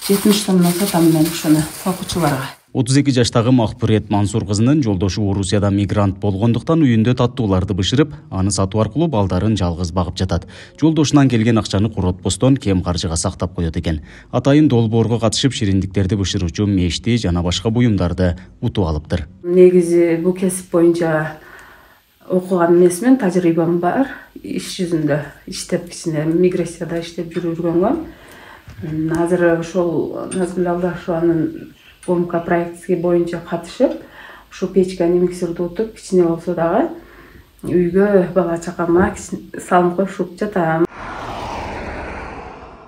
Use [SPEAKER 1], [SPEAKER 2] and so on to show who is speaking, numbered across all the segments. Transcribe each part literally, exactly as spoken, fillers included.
[SPEAKER 1] жетимиш сомдон сатам мен ушуну окуучуларга.
[SPEAKER 2] отуз эки жаштагы Макпырет Мансур кызынын жолдошу Орусияда мигрант болгондуктан үйүндө таттууларды бышырып, аны сатуу аркылуу балдарын жалгыз багып жатат. Жолдошунан келген акчаны коротпостон кем каржыга сактап коет экен. Атайын долбоорго катышып шириндиктерди бышыруучу мешти жана башка буюмдарды утуп алыптыр.
[SPEAKER 1] Негизи бул кесип боюнча окуган эмесмин, тажрыйбам бар. Иш жүзүндө иштеп, кичине миграцияда иштеп жүргөнгө. Азыр ошол Назгүл Алдашеванын ОМК проекти боюнча катышып, ушу печканы миксерди утуп, кичине болсо дагы үйгө бала чакама салым кошуп жатам.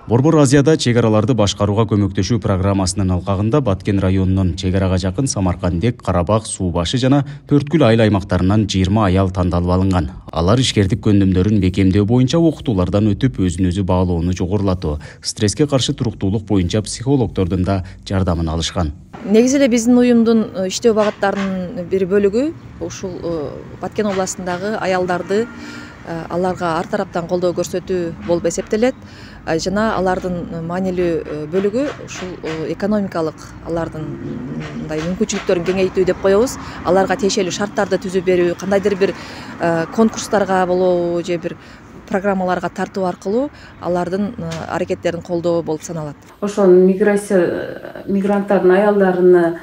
[SPEAKER 2] Борбор Азияда чек араларды башкарууга көмөктөшүү программасынын алкагында Баткен районунун чек арага жакын Самаркандек, Карабак, Суу башы жана Төрткүл айыл аймактарынан жыйырма аял тандалып алынган. Алар ишкердик көндүмдөрүн бекемдөө боюнча окутуулардан өтүп, өзүн өзү баалоону жогорулатуу, стресске каршы туруктуулук боюнча психологдордун да жардамын алышкан.
[SPEAKER 3] Негизи эле биздин уюмдун иштөө багыттарынын бир бөлүгү ушул Баткен областындагы аялдарды аларга ар тараптан колдоо көрсөтүү болуп эсептелет. Жана алардын маанилүү бөлүгү ушул экономикалык алардын мындай мүмкүнчүлүктөрүн кеңейтүү деп коебуз. Аларга тиешелүү шарттарды түзүп берүү, кандайдыр бир конкурстарга болобу же бир программаларга тартуу аркылуу алардын аракеттерин колдоо болуп саналат.
[SPEAKER 1] Ошол миграция мигранттардын аялдарыны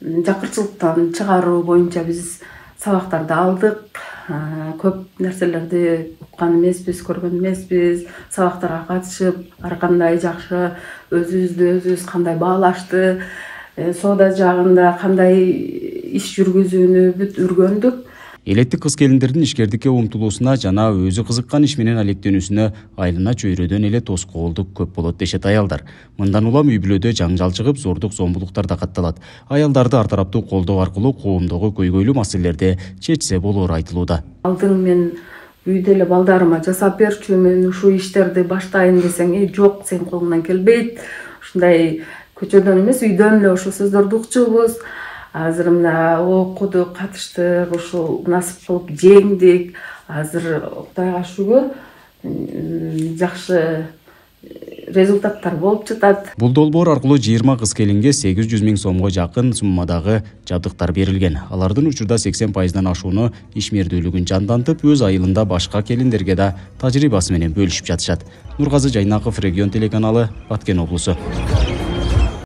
[SPEAKER 1] жакырчылыктан чыгаруу боюнча биз сабактарды алдык. Көп нерселерди уккан эмеспиз, көргөн эмеспиз. Сабактарга катышып, ар кандай жакшы өзүбүздү өзүбүз кандай баалашты, соода жагында кандай иш жүргүзүүнү бүт үргөндүк.
[SPEAKER 2] Элеттик кыз-келиндердин ишкердикке умтулуусуна жана өзү кызыккан иш менен алектенүүсүнө айылына чөйрөдөн эле тоскоолдук көп болот дешет аялдар. Мындан улам үй-бүлөдө жаңжал чыгып, зордук зомбулуктар да катталат. Аялдарды ар тараптуу колдоо аркылуу коомдогу көйгөйлүү маселелерди чечсе болоору айтылууда.
[SPEAKER 1] Алдың мен үйдө эле балдарыма жасап берчүмүн, ушул иштерди баштайын десең, "Э, жок, сен колуңдан келбейт." Ушундай көчөдөн эмес, үйдөн эле ошол сөздөрдү укчубуз. Азыр мына окудук, катыштык, ушул насып кылып жеңдик. Азыр Кудайга шүгүр жакшы результаттар болуп жатат.
[SPEAKER 2] Бул долбоор аркылуу жыйырма кыз-келинге сегиз жүз миң сомго жакын суммадагы жабдыктар берилген. Алардын учурда сексен пайыздан ашууну ишмердүүлүгүн жандантып, өз айылында башка келиндерге да тажрыйбасы менен бөлүшүп жатышат. Нургазы Жайнаков, Регион телеканалы, Баткен облусу.